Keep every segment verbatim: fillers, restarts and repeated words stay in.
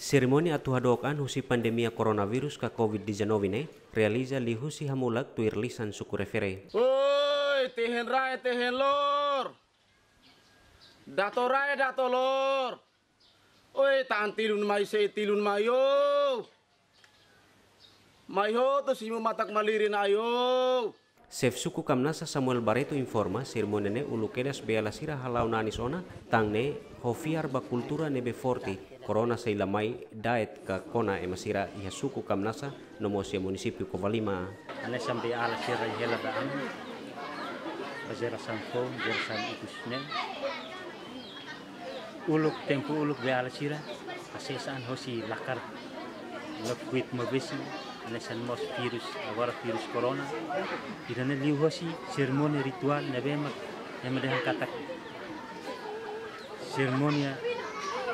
Serimónia atu hadook an husi pandemia koronavírus ka covid dezanove ne'e realiza liuhusi hamulak tuir lisan suku refere. Oi, tehen rai, tehen lor. Dato rai, dato lor. Oi, tan tilun mai, sei tilun mai, o. Mai hotu simu matak malirin ai, o. Xefe suku Kamnasa Samuel Barreto informa, serimónia ne'e uluk kedas beiala sira hala'o nanis ona, tan ne'e ho fiar ba kultura ne'ebé forte, korona sei la mai daet ka kona ema sira iha suku Kamnasa, no mós iha munisípiu Covalima. Hanesan beiala sira hela da'an, ba jerasaun foun, jerasaun ikus ne'e. Uluk, tempu uluk beiala sira, hasees an hosi lakar no kuit mabesi, hanesan mós vírus, agora vírus korona. Ida-ne'e liuhosi serimónia rituál ne'ebé mak ema dehan katak serimónia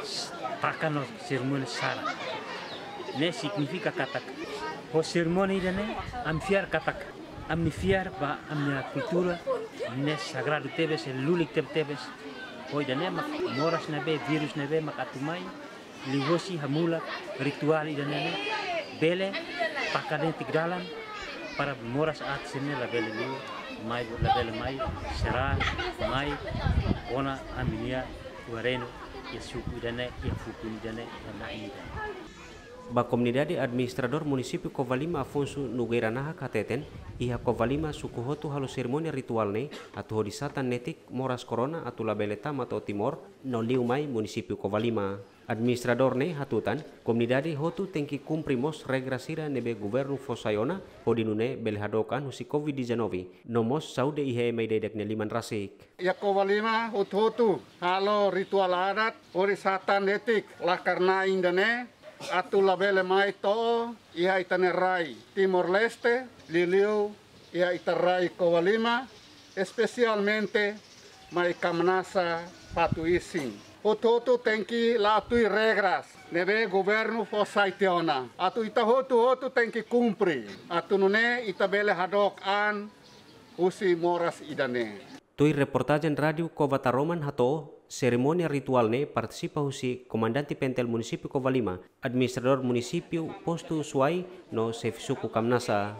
s-, taka no serimónia sara. Ne'e signifika katak, ho serimónia ida-ne'e, ami fiar katak, ami fiar ba ami-nia kultura ne'e sagradu tebes, lulik tebetebes. Ho ida-ne'e mak moras ne'ebé, vírus ne'ebé mak atu mai, liuhosi hamulak rituál ida-ne'e ne'e bele taka de'it dalan para moras aat sira-ne'e labele liu mai, labele mai serang, mai kona ami-nia ua-renu, iha suku ida-ne'e, iha fukun ida-ne'e, iha na'in ida-ne'e. Ba komunidade, administradór munisípiu Covalima Afonso Nogueira Nahak hateten, iha Covalima suku hotu halo serimónia rituál ne'e atu hodi satan netik moras korona atu labele tama to'o Timor no liu mai munisípiu Covalima. Administradór ne'e hatutan, komunidade hotu tenke kumpre mós regra sira ne'ebé governu fó sai ona, hodi nune'e bele hadook an husi covid dezanove, no mós saúde iha ema ida-idak nia liman rasik. Iha Covalima hotu-hotu halo rituál adat hodi satan netik lakar na'in ida-ne'e atu labele mai to'o iha ita-nia rai Timor-Leste, liuliu iha ita rai Covalima, espesialmente mai Kamnasa Fatuisin. Hotu-hotu tenke la'o tuir regras ne'ebé governu fó sai tiha ona. Atu ita hotu-hotu tenke kumpre. Atu nune'e ita bele hadook an husi moras ida-ne'e. Tuir reportajen Rádiu Cova Taroman hato'o, serimónia rituál ne'e partisipa husi Komandante Pentel Munisípiu Covalima, Administradór Munisípiu Postu Suai no Xefe Suku Kamnasa.